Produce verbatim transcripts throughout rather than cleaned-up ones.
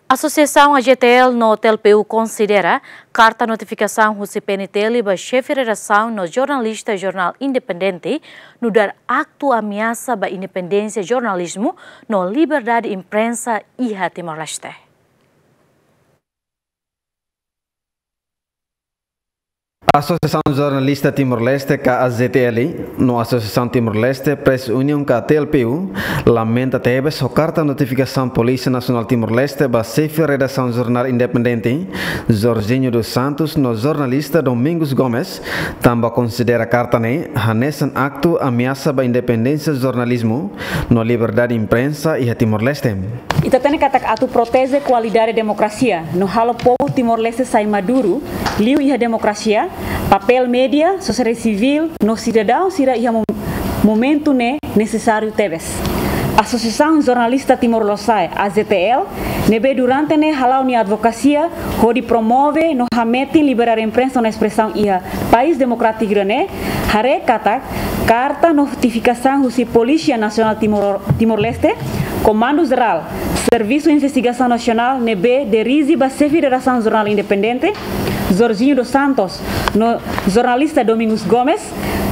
Asosiasaun A Z T L no T L P U konsidera karta notifikasaun husi P N T L ba xefe redasaun no jornalista jornál independente nu'udar aktu ameasa ba independénsia jornalizmu no liberdade imprensa iha Timor-Leste. Asosiasaun Jornalista Timor-Leste ka A Z T L no Asosiasaun Timor-Leste Press Union ka T L P U lamenta tebes ho karta notifikasaun Polísia Nasionál Timor-Leste ba xefe redasaun jornál independente Jorginho dos Santos no jornalista Domingos Gomes, tanba konsidera karta ne'e hanesan aktu ameasa ba independénsia jornalizmu no liberdade imprensa iha Timor-Leste. Ita hatene katak atu proteje kualidade demokrasia no halo povu Timor-Leste sai maduru liu iha demokrasia, papél média, sosiedade sivíl no sidadaun sira iha mo-, momentu ne'e nesesáriu tebes. Asosiasaun Jornalista Timor Lorosa'e, A Z T L, ne'ebé durante ne'e hala'o nia advokasia hodi promove no hametin liberdade imprensa no espresaun iha país demokrátiku ida-ne'e, haree katak karta notifikasaun husi Polísia Nasionál Timor, Timor-Leste, Komandu Jerál Servisu Investigasaun Nasionál ne'ebé dirije ba xefe redasaun jornál independente, Jorginho dos Santos, no jornalista Domingos Gomes,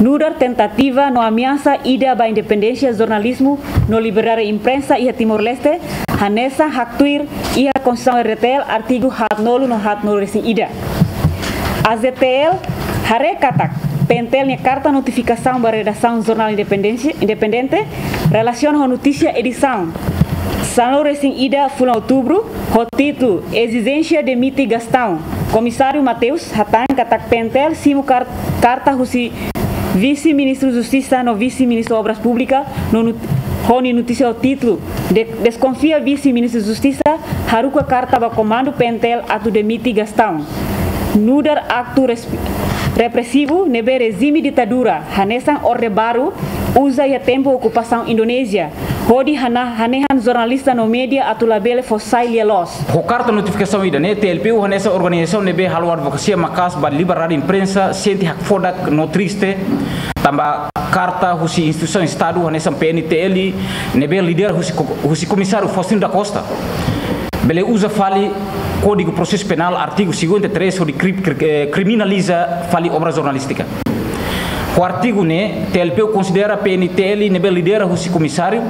nu'udar tentativa no ameasa ida ba independénsia jornalizmu no liberdade imprensa iha Timor-Leste, hanesan haktuir iha Konstituisaun R D T L artigu haatnulu no haatnulu resin ida. A Z T L haree katak P N T L nia karta notifikasaun ba redasaun jornál independénsia, independente relasiona ho notísia edisaun sanulu resin ida fulan Outubru ho títulu Ezijénsia demite Gastão, Komisáriu Mateus hatán katak P N T L simu kar-, karta husi Vise-Ministru Justisa no Vise-Ministru Obras Públikas no nut-, ho nia notísia ho títulu de-, Deskonfia Vise-Ministru Justisa, haruka karta ba Komandu P N T L atu demite Gastão, nu'udar aktu res-, represivu ne'ebé rejime ditadura hanesan Orde Baru uza iha tempu okupasaun Indonézia, hodi hana-, hanehan jornalista no média atu labele fó sai lia-loos. Ho karta notifikasaun ida-ne'e, T L P U hanesan organizasaun ne'ebé halo advokasia maka'as ba liberdade imprensa, sente hakfodak no triste, tanba karta husi instituisaun Estadu hanesan P N T L ne'ebé lidera husi ko-, husi Komisáriu Faustino da Costa bele uza fali Kódigu Prosesu Penál artigu cinquenta e três hodi kri-, kri-, eh, kriminaliza fali obra jornalístika. Ho artigu ne'e, T L P U konsidera P N T L ne'ebé lidera husi Komisáriu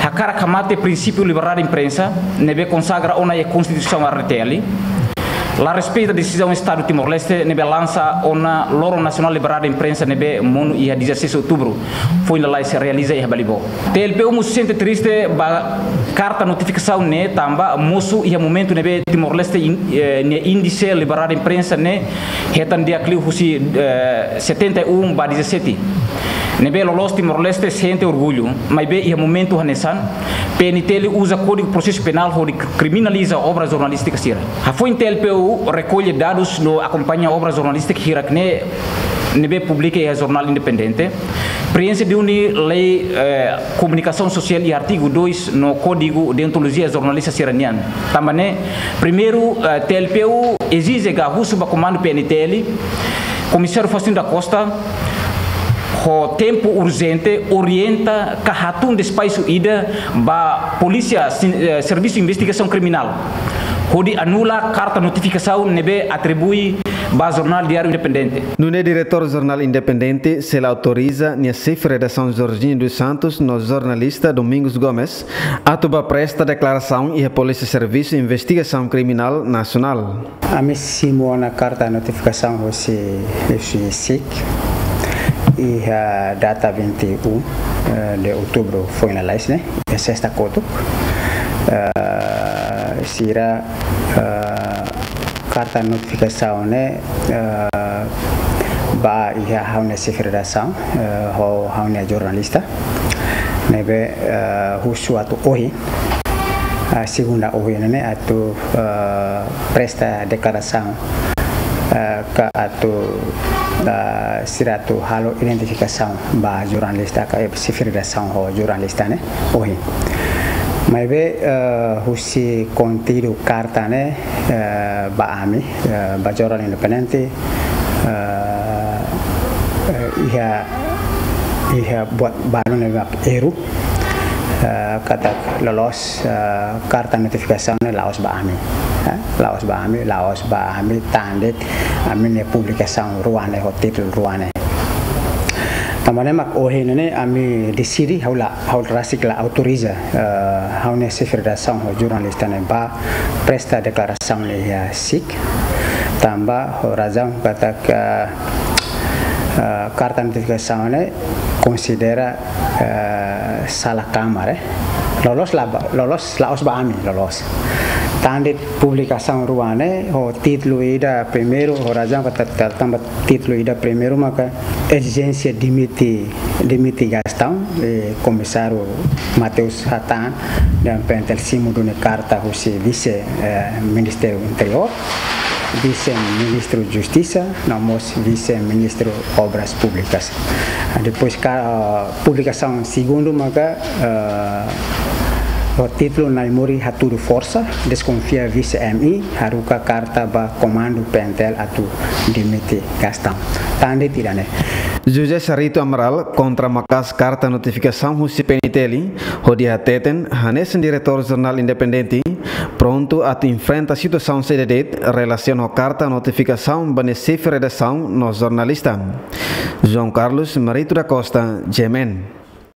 hakarak hamate prinsípiu liberdade imprensa ne'ebé konsagra ona iha Konstituisaun R D T L, la respeita desizaun Estadu Timor-Leste ne'ebé lansa ona Loron Nasionál Liberdade Imprensa ne'ebé monu iha dezaseis Outubru foin lalais realiza iha Balibo. T L P U mós sente triste ba karta notifikasaun ne'e tanba mosu iha momentu ne'ebé Timor-Leste in-, eh, nia índise liberdade imprensa ne'e hetan di'ak liu husi, eh, setenta e um ba dezassete. Ne'ebé loloos Timor-Leste sente orgullu, maibé iha momentu hanesan, P N T L uza Kódigu Prosesu Penál hodi kr-, kriminaliza obra jornalístika sira. Hafoin T L P U rekolle dadus no akompaña obra jornalístika hirak-ne'e ne'ebé publika iha jornál independente, prienxe duni lei, eh, komunikasaun sosiál iha artigu dois no Kódigu Deontolojia Jornalista sira-nian. Tanba ne'e, primeiru, eh, T L P U ezije ka husu ba Komandu P N T L, Komisáriu Faustino da Costa, ho tempu urjente, orienta ka hatun despaxu ida ba Polísia Sin-, eh, Servisu Investigasaun Kriminál hodi anula karta notifikasaun ne'ebé atribui ba Jornál Diáriu Independente. Nune'e Diretór Jornál Independente sei la autoriza nia xefe redasaun Jorginho dos Santos no jornalista Domingos Gomes atu bá presta deklarasaun iha Polísia Servisu Investigasaun Kriminál Nasionál. Ami simu ona karta notifikasaun husi, husi SIC iha data vinte e um, eh, de outubro foin lalais ne'e, iha sesta kotuk. Eh, sira, eh, karta notifikasaun ne'e, eh, ba iha ha'u-nia xefe redasaun, eh, ho ha'u-nia jornalista ne'ebé, eh, husu atu ohin, eh, segunda ohin ne'e atu, eh, presta deklarasaun, eh, ka atu, eh, sira atu halo identifikasaun ba jornalista ka, eh, xefe redasaun ho jornalista ne'e ohin. Maibé, eh, husi konteúdu karta ne'e, eh, ba ami, eh, ba Jornál Independente, eh, eh, iha, iha buat balu ne'ebé mak erru. eh, katak loloos, eh, karta notifikasaun ne'e la'ós ba ami. Eh, la'ós ba ami, la'ós ba ami, tan de'it ami-nia publikasaun rua ne'e ho títulu rua ne'e. Tanba ne'e mak ohin ne'e ami deside, ha'u la, ha'u rasik la autoriza, eh, ha'u-nia xefe redasaun ho jornalista ne'e ba presta deklarasaun iha SIC. Tanba ho razaun katak, eh, karta notifikasaun ne'e konsidera, eh, sala kamar, eh. Loloos la ba, loloos la'ós ba ami, loloos. Tan de'it publikasaun rua ne'e ho títulu ida primeiru, ho razaun katak, tanba títulu ida primeiru maka ezijénsia dimite, dimite Gastão, eh, komisáriu Mateus hatán, dehan PNTL simu duni karta husi vise, eh, Ministériu Interiór, vise Ministru Justisa, no mós vise Ministru Obras Públikas. Depois ka, ah, publikasaun segundu maka, eh, ho títulu Naimori hatudu forsa, deskonfia vise MI, haruka karta ba komandu PNTL atu dimite Gastão. Tan de'it ida-ne'e. José Sarito Amaral kontra maka'as karta notifikasaun husi PNTL, hodi hateten, hanesan diretór jornál independente, prontu atu enfrenta situasaun saida de'it relasiona ho karta notifikasaun ba nia xefe redasaun no jornalista. João Carlos Marito da Costa, GMN.